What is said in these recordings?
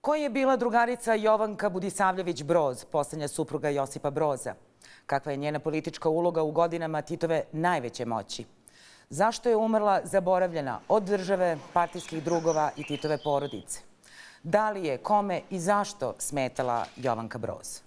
Ko je bila drugarica Jovanka Budisavljević-Broz, posljednja supruga Josipa Broza? Kakva je njena politička uloga u godinama Titove najveće moći? Zašto je umrla zaboravljena od države, partijskih drugova i Titove porodice? Da li je, kome i zašto smetala Jovanka Broz?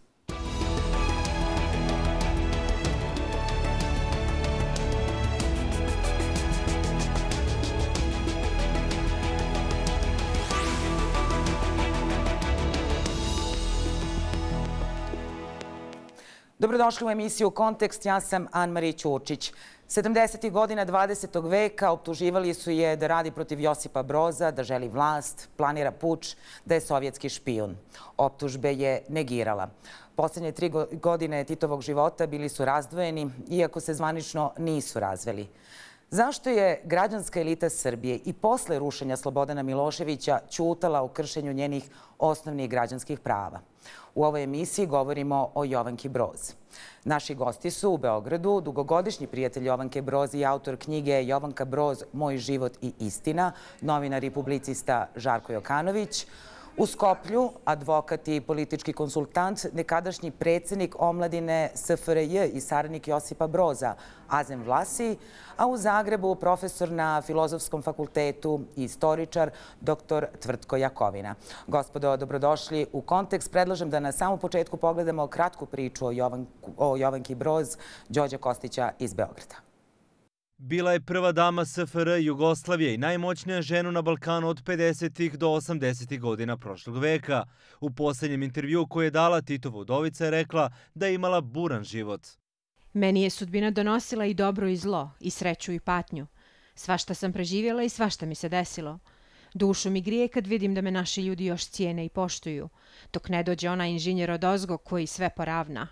Dobrodošli u emisiju Kontekst, ja sam Ann-Marie Ćurčić. 70. godina 20. veka optuživali su je da radi protiv Josipa Broza, da želi vlast, planira puč, da je sovjetski špijun. Optužbe je negirala. Posljednje 3 godine Titovog života bili su razdvojeni, iako se zvanično nisu razveli. Zašto je građanska elita Srbije i posle rušenja Slobodana Miloševića ćutala o kršenju njenih osnovnih građanskih prava? U ovoj emisiji govorimo o Jovanki Broz. Naši gosti su u Beogradu dugogodišnji prijatelj Jovanke Broz i autor knjige Jovanka Broz, Moj život i istina, novinar i publicista Žarko Jokanović. U Skoplju advokat i politički konsultant, nekadašnji predsjednik omladine SFRJ i saradnik Josipa Broza, Azem Vlasi, a u Zagrebu profesor na Filozofskom fakultetu i istoričar dr. Tvrtko Jakovina. Gospodo, dobrodošli u Kontekst. Predlažem da na samom početku pogledamo kratku priču o Jovanki Broz, Đorđa Kostića iz Beograda. Bila je prva dama SFRJ Jugoslavije i najmoćnija žena na Balkanu od 50. do 80. godina prošlog veka. U posljednjem intervju koji je dala Titova udovica je rekla da je imala buran život. Meni je sudbina donosila i dobro i zlo, i sreću i patnju. Svašta sam preživjela i svašta mi se desilo. Dušu mi grije kad vidim da me naši ljudi još cijene i poštuju, dok ne dođe onaj inženjer odozgo koji sve poravna.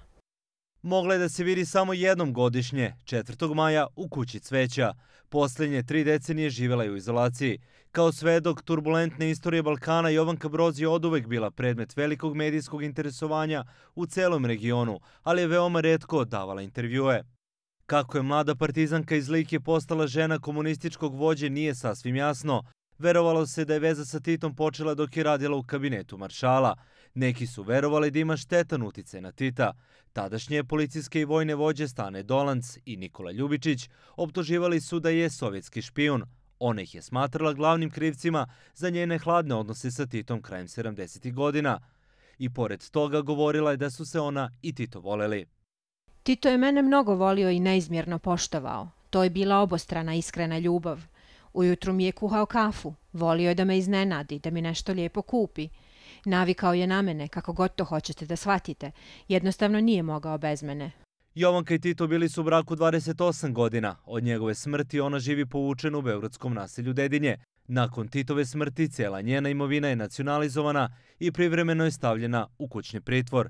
Mogla je da se vidi samo jednom godišnje, 4. maja u Kući cveća. Posljednje 3 decenije živjela je u izolaciji. Kao svedok turbulentne istorije Balkana, Jovanka Broz je oduvek bila predmet velikog medijskog interesovanja u celom regionu, ali je veoma retko davala intervjue. Kako je mlada partizanka iz Like postala žena komunističkog vođe nije sasvim jasno. Verovalo se da je veza sa Titom počela dok je radila u kabinetu maršala. Neki su verovali da ima štetan uticaj na Tita. Tadašnje policijske i vojne vođe Stane Dolanc i Nikola Ljubičić optuživali su da je sovjetski špijun. Ona ih je smatrala glavnim krivcima za njene hladne odnose sa Titom krajem 70. godina. I pored toga govorila je da su se ona i Tito voleli. Tito je mene mnogo volio i neizmjerno poštovao. To je bila obostrana iskrena ljubav. Ujutru mi je kuhao kafu, volio je da me iznenadi, da mi nešto lijepo kupi. Navikao je na mene, kako god to hoćete da shvatite. Jednostavno nije mogao bez mene. Jovanka i Tito bili su u braku 28 godina. Od njegove smrti ona živi povučena u beogradskom naselju Dedinje. Nakon Titove smrti cijela njena imovina je nacionalizovana i privremeno je stavljena u kućni pritvor.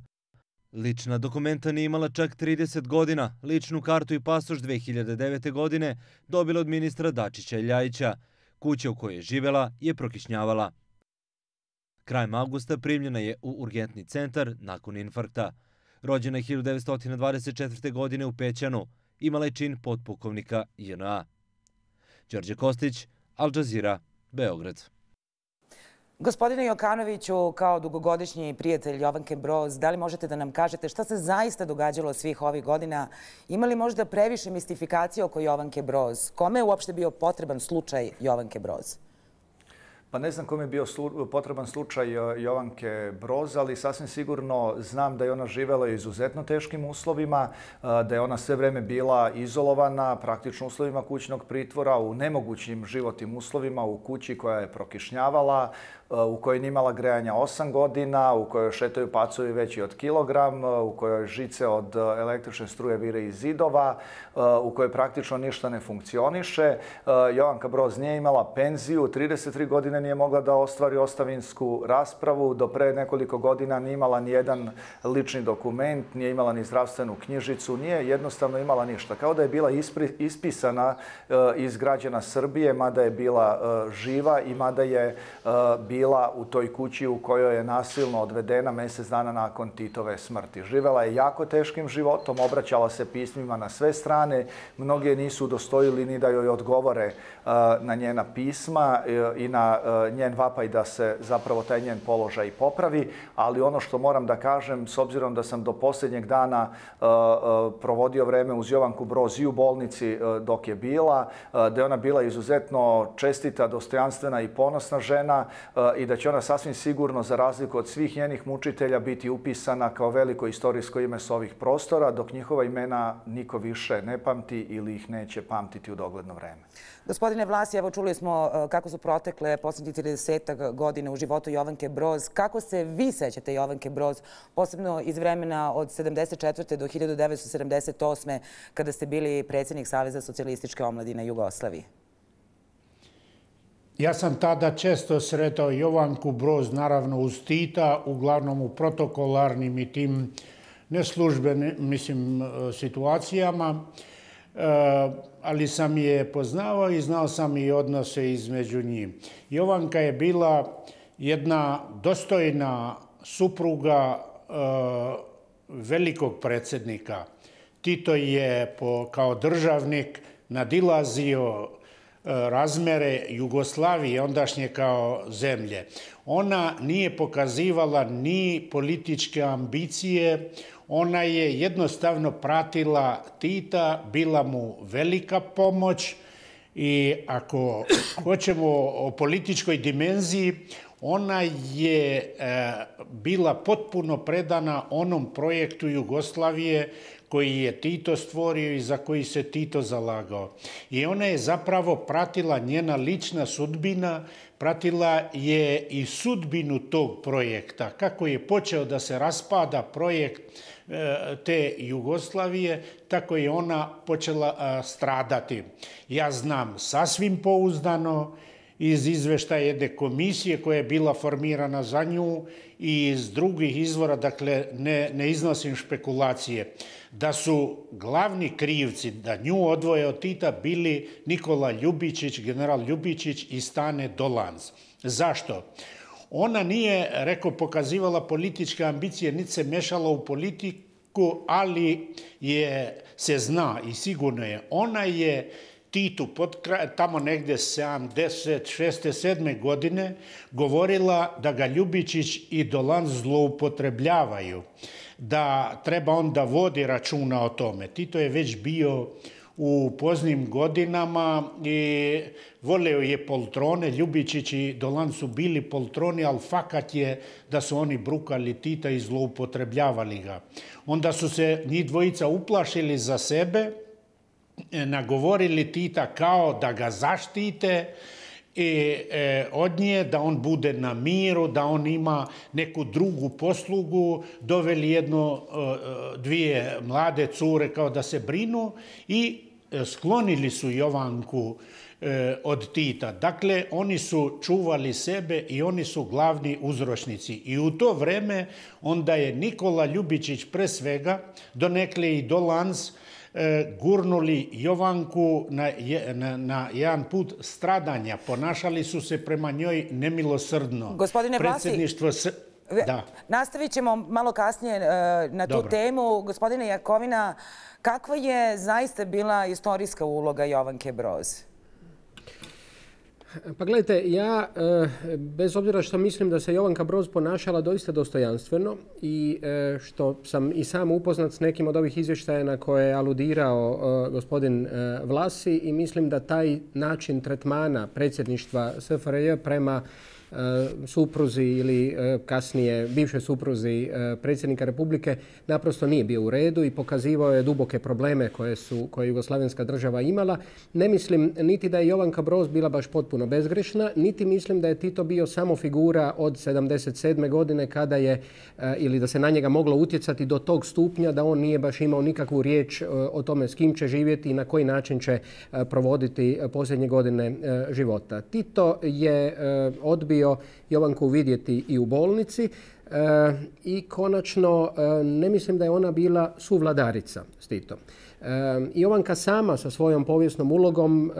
Lična dokumenta nije imala čak 30 godina. Ličnu kartu i pasoš 2009. godine dobila od ministra Dačića i Ljajića. Kuća u kojoj je živela je prokišnjavala. Krajem avgusta primljena je u urgentni centar nakon infarkta. Rođena je 1924. godine u Pećanu. Imala je čin potpukovnika JNA. Đorđe Kostić, Al Jazeera, Beograd. Gospodine Jokanoviću, kao dugogodišnji prijatelj Jovanke Broz, da li možete da nam kažete šta se zaista događalo svih ovih godina? Ima li možda previše mistifikacije oko Jovanke Broz? Kome je uopšte bio potreban slučaj Jovanke Broz? Pa ne znam kome je bio potreban slučaj Jovanke Broz, ali sasvim sigurno znam da je ona živjela u izuzetno teškim uslovima, da je ona sve vreme bila izolovana, praktično uslovima kućnog pritvora, u nemogućim životnim uslovima, u kući koja je prokišnjavala, u kojoj nije imala grejanja 8 godina, u kojoj šetaju pacovi veći od kilogram, u kojoj žice od električne struje vire iz zidova, u kojoj praktično ništa ne funkcioniše. Jovanka Broz nije imala penziju, 33 godine nije mogla da ostvari ostavinsku raspravu, do pre nekoliko godina nije imala ni jedan lični dokument, nije imala ni zdravstvenu knjižicu, nije jednostavno imala ništa. Kao da je bila ispisana iz građana Srbije, mada je bila živa i mada je bila bila u toj kući u kojoj je nasilno odvedena mjesec dana nakon Titove smrti. Živela je jako teškim životom, obraćala se pismima na sve strane, mnogi nisu udostojili ni da joj odgovore na njena pisma i na njen vapaj da se zapravo taj njen položaj popravi, ali ono što moram da kažem, s obzirom da sam do posljednjeg dana provodio vreme uz Jovanku Broz i u bolnici dok je bila, da je ona bila izuzetno čestita, dostojanstvena i ponosna žena i da će ona sasvim sigurno, za razliku od svih njenih mučitelja, biti upisana kao veliko istorijsko ime s ovih prostora, dok njihova imena niko više ne pamti ili ih neće pamtiti u dogledno vreme. Gospodine Vlasi, evo čuli smo kako su protekle posljednjih 30 godina u životu Jovanke Broz. Kako se vi sećate Jovanke Broz, posebno iz vremena od 1974. do 1978. kada ste bili predsjednik Saveza socijalističke omladine Jugoslavije? Ja sam tada često sretao Jovanku Broz, naravno uz Tita, uglavnom u protokolarnim i tim neslužbenim situacijama, ali sam je poznavao i znao sam i odnose između njih. Jovanka je bila jedna dostojna supruga velikog predsjednika. Tito je kao državnik nadilazio razmere Jugoslavije, ondašnje kao zemlje. Ona nije pokazivala ni političke ambicije, ona je jednostavno pratila Tita, bila mu velika pomoć i ako hoćemo o političkoj dimenziji, ona je bila potpuno predana onom projektu Jugoslavije koji je Tito stvorio i za koji se Tito zalagao. I ona je zapravo pratila, njena lična sudbina, pratila je i sudbinu tog projekta. Kako je počeo da se raspada projekt te Jugoslavije, tako je ona počela stradati. Ja znam sasvim pouzdano iz izveštaja jedne komisije koja je bila formirana za nju i iz drugih izvora, dakle ne iznosim špekulacije, da su glavni krivci da nju odvoje od Tita bili Nikola Ljubičić, general Ljubičić i Stane Dolanc. Zašto? Ona nije, pokazivala političke ambicije, niti se mešala u politiku, ali se zna i sigurno je, ona je Titu tamo negdje 76. 7. godine govorila da ga Ljubičić i Dolanc zloupotrebljavaju, da treba on da vodi računa o tome. Tito je već bio u poznim godinama i voleo je poltrone. Ljubičić i Dolanc su bili poltroni, ali fakat je da su oni brukali Tita i zloupotrebljavali ga. Onda su se njih dvojica uplašili za sebe, nagovorili Tita kao da ga zaštite i od nje, da on bude na miru, da on ima neku drugu poslugu, doveli dvije mlade cure kao da se brinu i sklonili su Jovanku od Tita. Dakle, oni su čuvali sebe i oni su glavni uzročnici. I u to vreme onda je Nikola Ljubičić pre svega, donekle i Dolanc, gurnuli Jovanku na jedan put stradanja. Ponašali su se prema njoj nemilosrdno. Gospodine Vlasi, nastavit ćemo malo kasnije na tu temu. Gospodine Jakovina, kakva je zaista bila istorijska uloga Jovanke Broz? Pa gledajte, ja bez obzira što mislim da se Jovanka Broz ponašala doista dostojanstveno i što sam i sam upoznat s nekim od ovih izvještaja na koje je aludirao gospodin Vlasi i mislim da taj način tretmana predsjedništva SFRJ prema supruzi ili kasnije bivšoj supruzi predsjednika Republike naprosto nije bio u redu i pokazivao je duboke probleme koje je jugoslavenska država imala. Ne mislim niti da je Jovanka Broz bila baš potpuno bezgrešna, niti mislim da je Tito bio samo figura od 77. godine kada je, ili da se na njega moglo utjecati do tog stupnja da on nije baš imao nikakvu riječ o tome s kim će živjeti i na koji način će provoditi posljednje godine života. Tito je odbio Jovanku vidjeti i u bolnici i konačno ne mislim da je ona bila suvladarica s Titom. Jovanka sama sa svojom povijesnom ulogom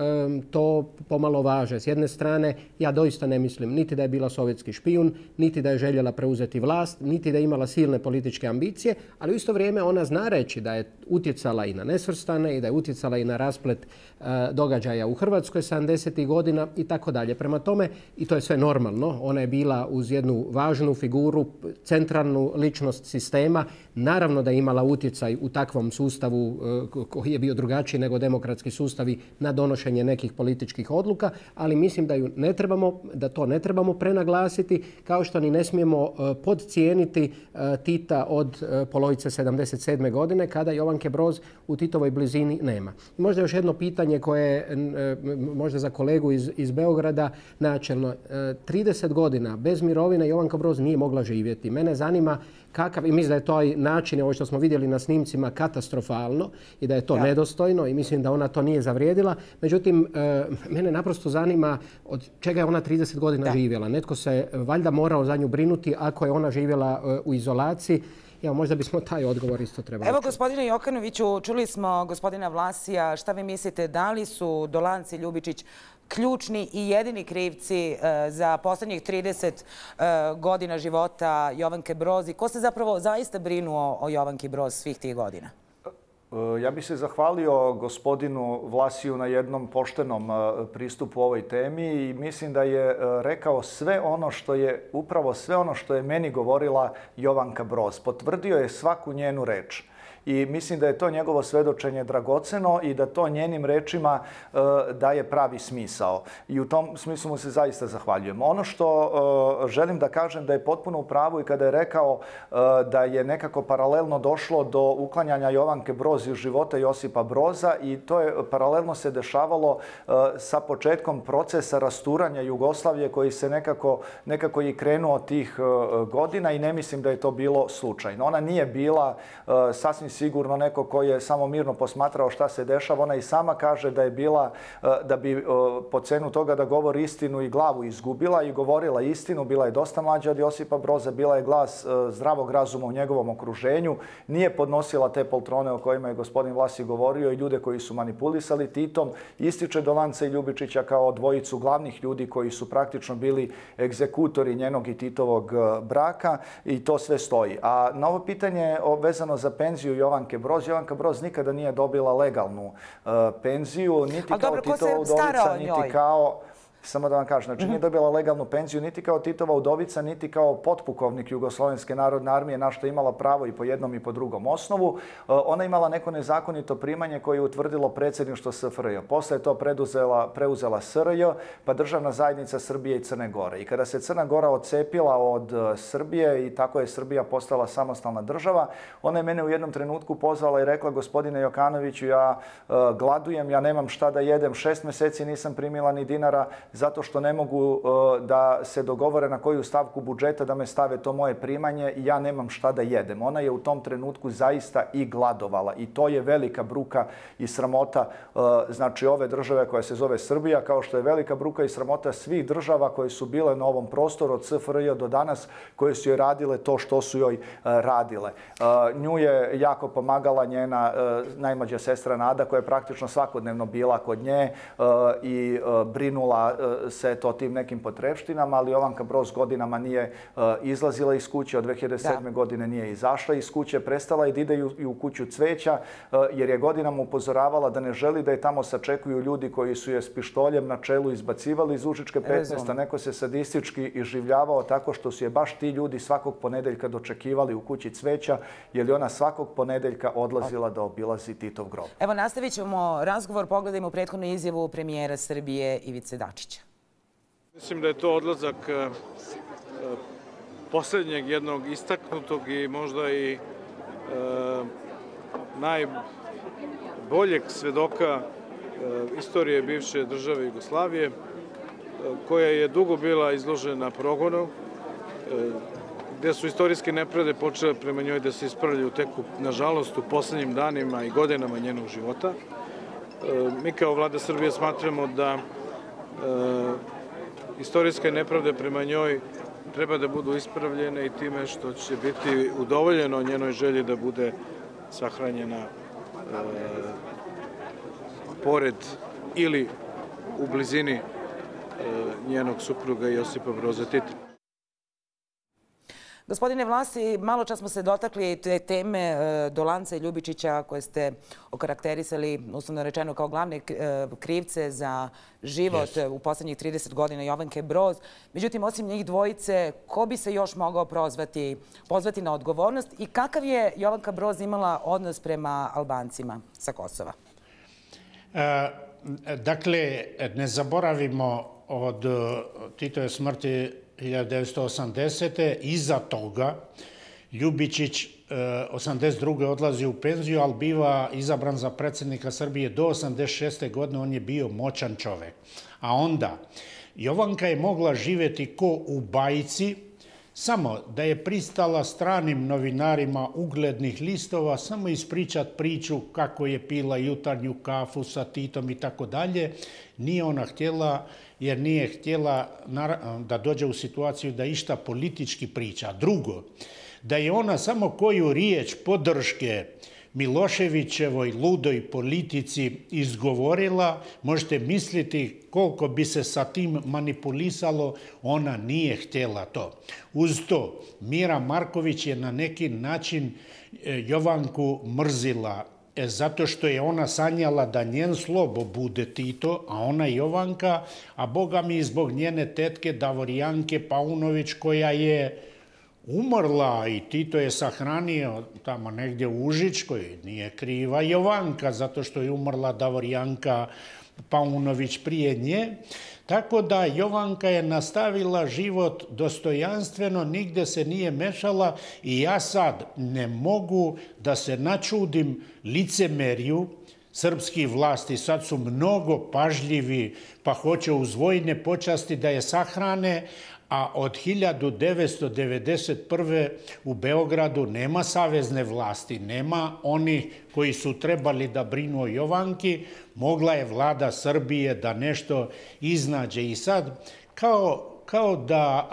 to pomalo važe. S jedne strane, ja doista ne mislim niti da je bila sovjetski špijun, niti da je željela preuzeti vlast, niti da je imala silne političke ambicije, ali u isto vrijeme ona zna reći da je utjecala i na nesvrstane i da je utjecala i na rasplet događaja u Hrvatskoj 70. godina i tako dalje. Prema tome, i to je sve normalno, ona je bila uz jednu važnu figuru, centralnu ličnost sistema. Naravno da je imala utjecaj u takvom sustavu koji je bio drugačiji nego demokratski sustavi na donošenje nekih političkih odluka, ali mislim da to ne trebamo prenaglasiti, kao što ni ne smijemo podcijeniti Tita od polovice 77. godine, kada Jovanke Broz u Titovoj blizini nema. I možda još jedno pitanje koje možda za kolegu iz Beograda načelno. 30 godina bez mirovine Jovanka Broz nije mogla živjeti. Mene zanima kakav, i mislim da je to način, ovo što smo vidjeli na snimcima, katastrofalno i da je to nedostojno i mislim da ona to nije zavrijedila. Međutim, mene naprosto zanima od čega je ona 30 godina živjela. Netko se valjda morao za nju brinuti ako je ona živjela u izolaciji. Evo, možda bismo taj odgovor isto trebali. Evo, gospodine Jokanoviću, čuli smo gospodina Vlasija. Šta vi mislite, da li su Dolanci i Ljubičić ključni i jedini krivci za posljednjih 30 godina života Jovanke Broz i ko se zapravo zaista brinuo o Jovanki Broz svih tih godina? Ja bih se zahvalio gospodinu Vlasiju na jednom poštenom pristupu ovoj temi i mislim da je rekao upravo sve ono što je meni govorila Jovanka Broz. Potvrdio je svaku njenu reč. I mislim da je to njegovo svedočenje dragoceno i da to njenim rečima daje pravi smisao. I u tom smislu mu se zaista zahvaljujem. Ono što želim da kažem da je potpuno u pravu i kada je rekao da je nekako paralelno došlo do uklanjanja Jovanke Broz iz života Josipa Broza i to je paralelno se dešavalo sa početkom procesa rasturanja Jugoslavije koji se nekako i krenuo tih godina i ne mislim da je to bilo slučajno. Ona nije bila sasvim sigurno neko koji je samo mirno posmatrao šta se dešava. Ona i sama kaže da je bila, da bi po cenu toga da govori istinu i glavu izgubila i govorila istinu. Bila je dosta mlađa od Josipa Broza, bila je glas zdravog razuma u njegovom okruženju. Nije podnosila te poltrone o kojima je gospodin Vlasi govorio i ljude koji su manipulisali Titom. Ističe Dolanca i Ljubičića kao dvojicu glavnih ljudi koji su praktično bili egzekutori njenog i Titovog braka i to sve stoji. A na ovo pitanje vezano za penziju Jovanke Broz. Jovanka Broz nikada nije dobila legalnu penziju, niti kao Titova udovica, niti kao... Samo da vam kažem, znači nije dobila legalnu penziju niti kao Titova udovica, niti kao potpukovnik Jugoslovenske narodne armije, na što je imala pravo i po jednom i po drugom osnovu. Ona imala neko nezakonito primanje koje je utvrdilo predsjedništvo SFRJ. Posle je to preuzela SRJ, pa Državna zajednica Srbije i Crne Gore. I kada se Crna Gora odcepila od Srbije i tako je Srbija postala samostalna država, ona je mene u jednom trenutku pozvala i rekla: gospodine Jokanoviću, ja gladujem, ja nemam šta da jedem, 6 mjeseci nisam primila ni dinara, zato što ne mogu da se dogovore na koju stavku budžeta da me stave to moje primanje i ja nemam šta da jedem. Ona je u tom trenutku zaista i gladovala i to je velika bruka i sramota znači ove države koja se zove Srbija, kao što je velika bruka i sramota svih država koje su bile na ovom prostoru od SFRJ do danas, koje su joj radile to što su joj radile. Nju je jako pomagala njena najmlađa sestra Nada, koja je praktično svakodnevno bila kod nje i brinula se to tim nekim potrepštinama, ali Jovanka Broz godinama nije izlazila iz kuće, od 2007. godine nije izašla iz kuće, prestala je da ide i u kuću Cveća, jer je godinama upozoravala da ne želi da je tamo sačekuju ljudi koji su je s pištoljem na čelu izbacivali iz Užičke 15, a neko se sadistički iživljavao tako što su je baš ti ljudi svakog ponedeljka dočekivali u kući Cveća, jer je ona svakog ponedeljka odlazila da obilazi Titov grob. Evo, nastavit ćemo razgovor, pogledajmo prethodnu izjavu premijera Srbije Ivice Dačića. Mislim da je to odlazak posljednjeg jednog istaknutog i možda i najboljeg svedoka istorije bivše države Jugoslavije, koja je dugo bila izložena progonu, gde su istorijske nepravde počele prema njoj da se ispravljaju tek, nažalost, u posljednjim danima i godinama njenog života. Mi kao vlada Srbije smatramo da istorijske nepravde prema njoj treba da budu ispravljene i time što će biti udovoljeno njenoj želji da bude sahranjena pored ili u blizini njenog supruga Josipa Broza Tita. Gospodine Vlasi, malo čas smo se dotakli te teme Dolanca i Ljubičića koje ste okarakterisali, uslovno rečeno, kao glavne krivce za život u posljednjih 30 godina Jovanke Broz. Međutim, osim njih dvojice, ko bi se još mogao pozvati na odgovornost i kakav je Jovanka Broz imala odnos prema Albancima sa Kosova? Dakle, ne zaboravimo od Titove smrti 1980. Iza toga Ljubičić 1982. odlazi u penziju, ali biva izabran za predsjednika Srbije do 1986. godine. On je bio moćan čovjek. A onda Jovanka je mogla živjeti ko u bajci, samo da je pristala stranim novinarima uglednih listova, samo ispričat priču kako je pila jutarnju kafu sa Titom i tako dalje. Nije ona htjela, jer nije htjela da dođe u situaciju da išta politički priča. Drugo, da je ona samo koju riječ podrške Miloševićevoj ludoj politici izgovorila, možete misliti koliko bi se sa tim manipulisalo, ona nije htjela to. Uz to, Mira Marković je na neki način Jovanku mrzila, zato što je ona sanjala da njen slobo bude Tito, a ona Jovanka, a boga mi zbog njene tetke Davorijanke Paunović koja je umrla i Tito je sahranio tamo negdje u Užičkoj. Nije kriva Jovanka zato što je umrla Davorijanka Paunović prije nje. Tako da Jovanka je nastavila život dostojanstveno, nigdje se nije mešala i ja sad ne mogu da se načudim licemerju srpskih vlasti. Sad su mnogo pažljivi pa hoće uz vojne počasti da je sahrane, a od 1991. u Beogradu nema savezne vlasti, nema onih koji su trebali da brinu o Jovanki. Mogla je vlada Srbije da nešto iznađe i sad kao da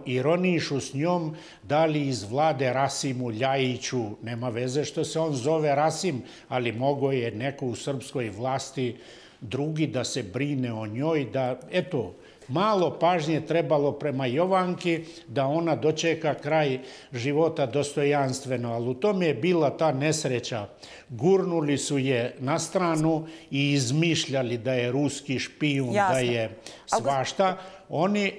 ironišu s njom, da li iz vlade Rasimu Ljajiću, nema veze što se on zove Rasim, ali mogo je neko u srpskoj vlasti drugi da se brine o njoj, da eto, malo pažnje trebalo prema Jovanki da ona dočeka kraj života dostojanstveno, ali u tome je bila ta nesreća. Gurnuli su je na stranu i izmišljali da je ruski špijun, da je svašta.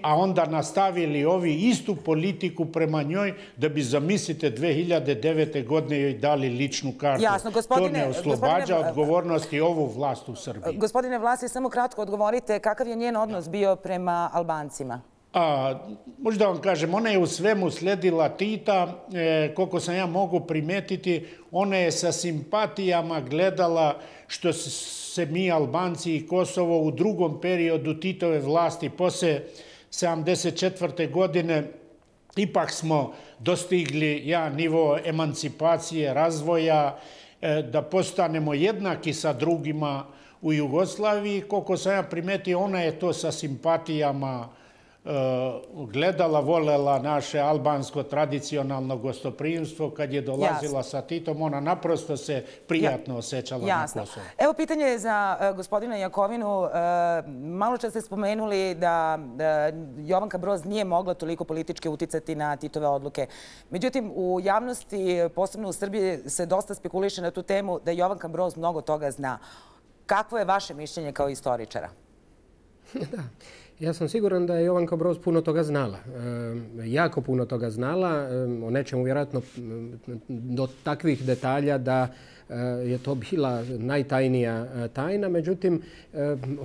A onda nastavili ovi istu politiku prema njoj da bi, zamislite, 2009. godine joj dali ličnu kartu. To ne oslobađa odgovornosti ovu vlast u Srbiji. Gospodine Vlasi, samo kratko odgovorite, kakav je njen odnos bio prema Albancima? Možda vam kažem, ona je u svemu sledila Tita, koliko sam ja mogu primetiti, ona je sa simpatijama gledala što se mi Albanci i Kosovo u drugom periodu Titove vlasti, posle 1974. godine, ipak smo dostigli nivo emancipacije, razvoja, da postanemo jednaki sa drugima u Jugoslaviji. Koliko sam ja primetio, ona je to sa simpatijama gledala, volela naše albansko tradicionalno gostoprimstvo. Kad je dolazila sa Titom, ona naprosto se prijatno osjećala na Kosovu. Evo pitanje za gospodina Jakovinu. Malo čas ste spomenuli da Jovanka Broz nije mogla toliko politički uticati na Titove odluke. Međutim, u javnosti, posebno u Srbiji, se dosta spekuliše na tu temu da Jovanka Broz mnogo toga zna. Kakvo je vaše mišljenje kao istoričara? Da. Ja sam siguran da je Jovanka Broz puno toga znala. Jako puno toga znala. O nečemu vjerojatno do takvih detalja da je to bila najtajnija tajna. Međutim,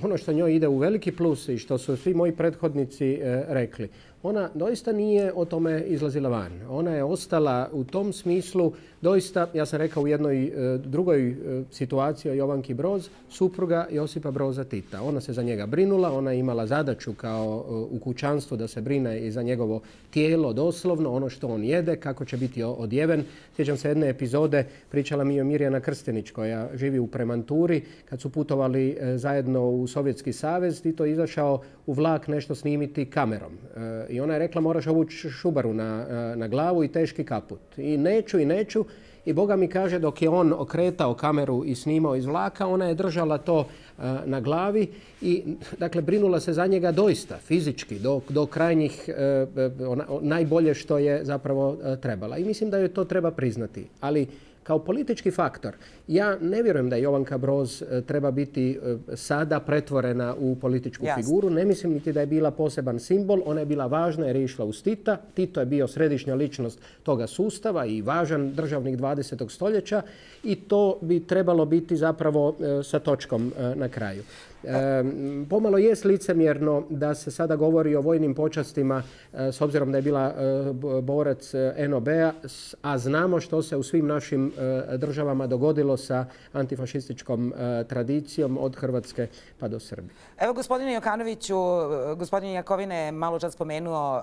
ono što njoj ide u veliki plus i što su svi moji prethodnici rekli, ona doista nije o tome izlazila van. Ona je ostala u tom smislu doista, ja sam rekao u jednoj drugoj situaciji o Jovanki Broz, supruga Josipa Broza Tita. Ona se za njega brinula, ona je imala zadaću kao u kućanstvu da se brine i za njegovo tijelo, doslovno, ono što on jede, kako će biti odjeven. Sjećam se jedne epizode, pričala mi je Mirjana Krstenić koja živi u Premanturi, kad su putovali zajedno u Sovjetski savez, Tito je izašao u vlak nešto snimiti kamerom. I ona je rekla moraš ovući šubaru na glavu i teški kaput. I neću. i Boga mi kaže dok je on okretao kameru i snimao iz vlaka, ona je držala to na glavi i dakle brinula se za njega doista fizički do krajnjih najbolje što je zapravo trebala. I mislim da joj to treba priznati. Ali kao politički faktor, ja ne vjerujem da Jovanka Broz treba biti sada pretvorena u političku figuru. Ne mislim niti da je bila poseban simbol. Ona je bila važna jer je išla uz Tita. Tito je bio središnja ličnost toga sustava i važan državnik 20. stoljeća i to bi trebalo biti zapravo sa točkom na kraju. Pomalo jest licemjerno da se sada govori o vojnim počastima s obzirom da je bila borac NOB-a, a znamo što se u svim našim državama dogodilo sa antifašističkom tradicijom od Hrvatske pa do Srbije. Evo, gospodine Jokanoviću, gospodin Jakovina je malo čas spomenuo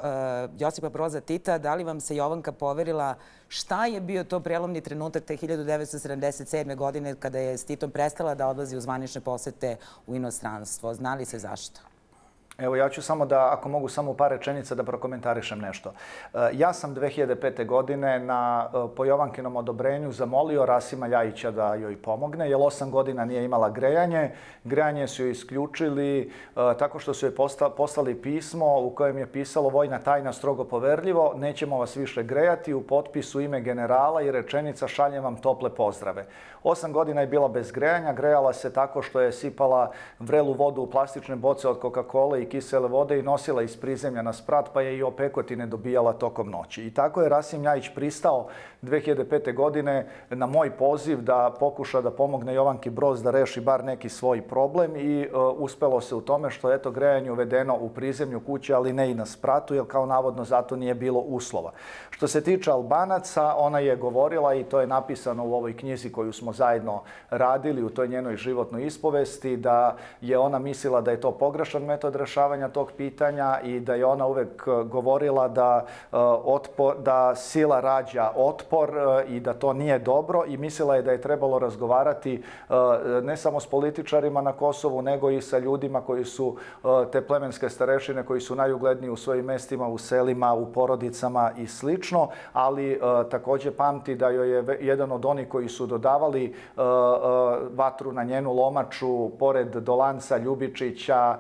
Josipa Broza Tita. Da li vam se Jovanka poverila šta je bio to prelomni trenutak te 1977. godine kada je s Titom prestala da odlazi u zvanične posete u inostranstvo? Zna li se zašto? Evo, ja ću samo da, ako mogu samo u par rečenica da prokomentarišem nešto. Ja sam 2005. godine po Jovankinom odobrenju zamolio Rasima Ljajića da joj pomogne, jer 8 godina nije imala grejanje. Grejanje su joj isključili tako što su joj poslali pismo u kojem je pisalo vojna tajna strogo poverljivo, nećemo vas više grejati, u potpisu ime generala i rečenica šaljem vam tople pozdrave. 8 godina je bila bez grejanja, grejala se tako što je sipala vrelu vodu u plastične boce od Coca-Cola i kisele vode i nosila iz prizemlja na sprat, pa je i opekotine dobijala tokom noći. I tako je Rasim Ljajić pristao 2005. godine na moj poziv da pokuša da pomogne Jovanki Broz da reši bar neki svoj problem i uspelo se u tome što je grejanje uvedeno u prizemlju kuće, ali ne i na spratu, jer kao navodno zato nije bilo uslova. Što se tiče Albanaca, ona je govorila, i to je napisano u ovoj knjizi koju smo zajedno radili, u toj njenoj životnoj ispovesti, da je ona mislila da je to pogrešan metod rešavanja tog pitanja i da je ona uvek govorila da sila rađa otpor i da to nije dobro, i mislila je da je trebalo razgovarati ne samo s političarima na Kosovu, nego i sa ljudima koji su te plemenske starešine, koji su najugledniji u svojim mestima, u selima, u porodicama i slično, ali također pamti da joj je jedan od onih koji su dodavali vatru na njenu lomaču, pored Dolanca, Ljubičića,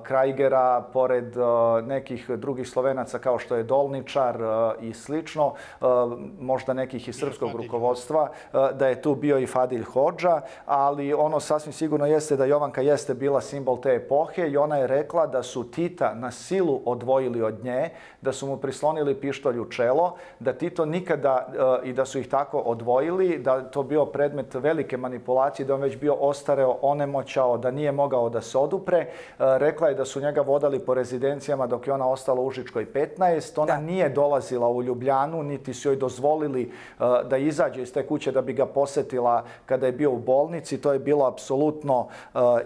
Krajgera, pored nekih drugih Slovenaca kao što je Dolničar i slično, možda nekih iz srpskog rukovodstva, da je tu bio i Fadil Hodža, ali ono sasvim sigurno jeste da Jovanka jeste bila simbol te epohe i ona je rekla da su Tita na silu odvojili od nje, da su mu prislonili pištolj u čelo, da Tito nikada, i da su ih tako odvojili, da to bio predmet velike manipulacije, da on već bio ostareo, onemoćao, da nije mogao da se odupre. Rekla je da su njega vodali po rezidencijama dok je ona ostala u Užičkoj 15. Ona nije dolazila u Ljubljanu, niti su joj dozvolili da izađe iz te kuće da bi ga posetila kada je bio u bolnici. To je bilo apsolutno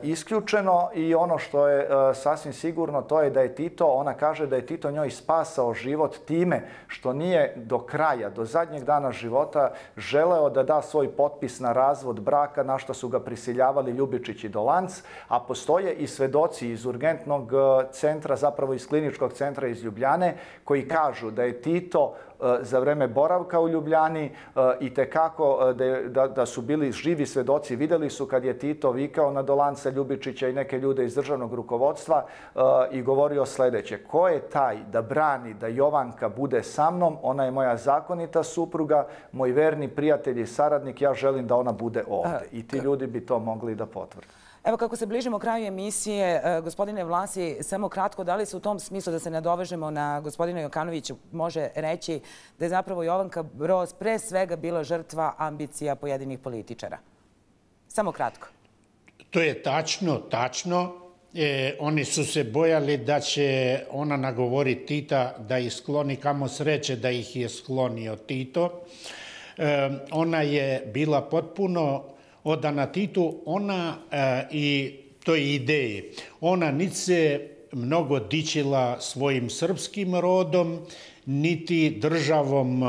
isključeno i ono što je sasvim sigurno to je da je Tito, ona kaže da je Tito njoj spasao život time što nije do kraja, do zadnjeg dana života želeo da da svoj potpis na razvod braka, na što su ga prisiljavali Ljubičić i Dolanc, a postoje i svedoci iz urgentnog centra, zapravo iz kliničkog centra iz Ljubljane, koji kažu da je Tito za vreme boravka u Ljubljani i tekako da su bili živi svedoci. Videli su kad je Tito vikao na Dolanca, Ljubičića i neke ljude iz državnog rukovodstva i govorio sljedeće: ko je taj da brani da Jovanka bude sa mnom? Ona je moja zakonita supruga, moj verni prijatelj i saradnik, ja želim da ona bude ovdje. I ti ljudi bi to mogli da potvrde. Evo, kako se bližimo kraju emisije, gospodine Vlasi, samo kratko, da li se u tom smislu, da se nadovežemo na gospodina Jokanovića, može reći da je zapravo Jovanka Broz pre svega bila žrtva ambicija pojedinih političara? Samo kratko. To je tačno. Oni su se bojali da će ona nagovoriti Tita da ih skloni, kamo sreće da ih je sklonio Tito. Ona je bila potpuno odana Titu, ona i toj ideji. Ona niti se mnogo dičila svojim srpskim rodom, niti državom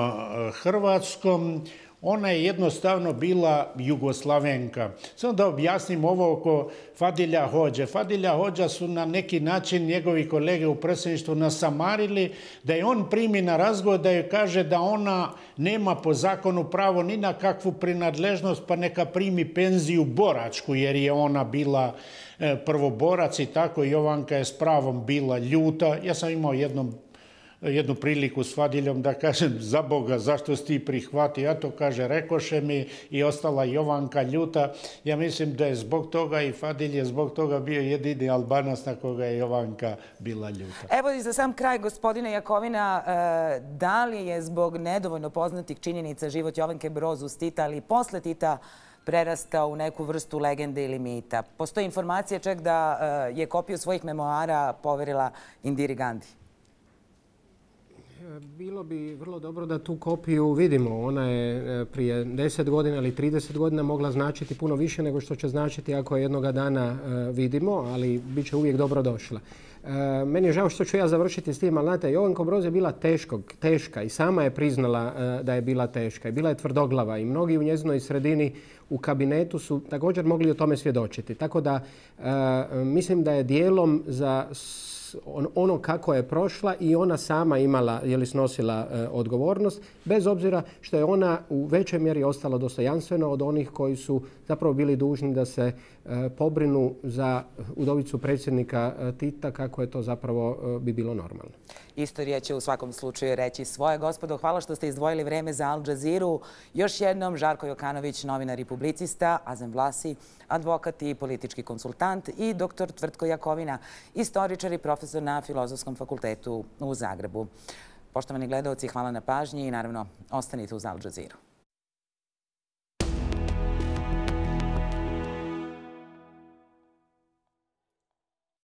Hrvatskom. Ona je jednostavno bila Jugoslavenka. Samo da objasnim ovo oko Fadilja Hodže. Fadilja Hodža su na neki način njegovi kolege u predsjedništvu nasamarili da je on primi na razgovor, da joj kaže da ona nema po zakonu pravo ni na kakvu prinadležnost, pa neka primi penziju boračku, jer je ona bila prvoborac i tako. Jovanka je s pravom bila ljuta. Ja sam imao jednu priliku s Fadiljom da kažem, za Boga, zašto si ti prihvatio? Ja to kaže, rekoše mi, i ostala Jovanka ljuta. Ja mislim da je zbog toga i Fadilj je zbog toga bio jedini Albanac na koga je Jovanka bila ljuta. Evo i za sam kraj, gospodine Jakovina, da li je zbog nedovoljno poznatih činjenica život Jovanke Broz uz Tita, ali i posle Tita prerastao u neku vrstu legende ili mita? Postoji informacija čak da je kopiju svojih memoara poverila Indiri Gandhi. Bilo bi vrlo dobro da tu kopiju vidimo. Ona je prije 10 godina ili 30 godina mogla značiti puno više nego što će značiti ako je jednoga dana vidimo, ali bit će uvijek dobro došla. Meni je žao što ću ja završiti s tim, ali znate, Jovanka Broz je bila teška i sama je priznala da je bila teška i bila je tvrdoglava i mnogi u njezinoj sredini u kabinetu su također mogli o tome svjedočiti. Tako da mislim da je dijelom za ono kako je prošla i ona sama imala, snosila odgovornost, bez obzira što je ona u većoj mjeri ostala dostojanstvena od onih koji su zapravo bili dužni da se pobrinu za udovicu predsjednika Tita, kako je to zapravo bi bilo normalno. Istorija će u svakom slučaju reći svoje. Gospodo, hvala što ste izdvojili vreme za Al Jazeeru. Još jednom, Žarko Jokanović, novinar i publicista, Azem Vlasi, advokat i politički konsultant, i dr. Tvrtko Jakovina, istoričar i profesor na Filozofskom fakultetu u Zagrebu. Poštovani gledalci, hvala na pažnji i naravno ostanite uz Al Jazeeru.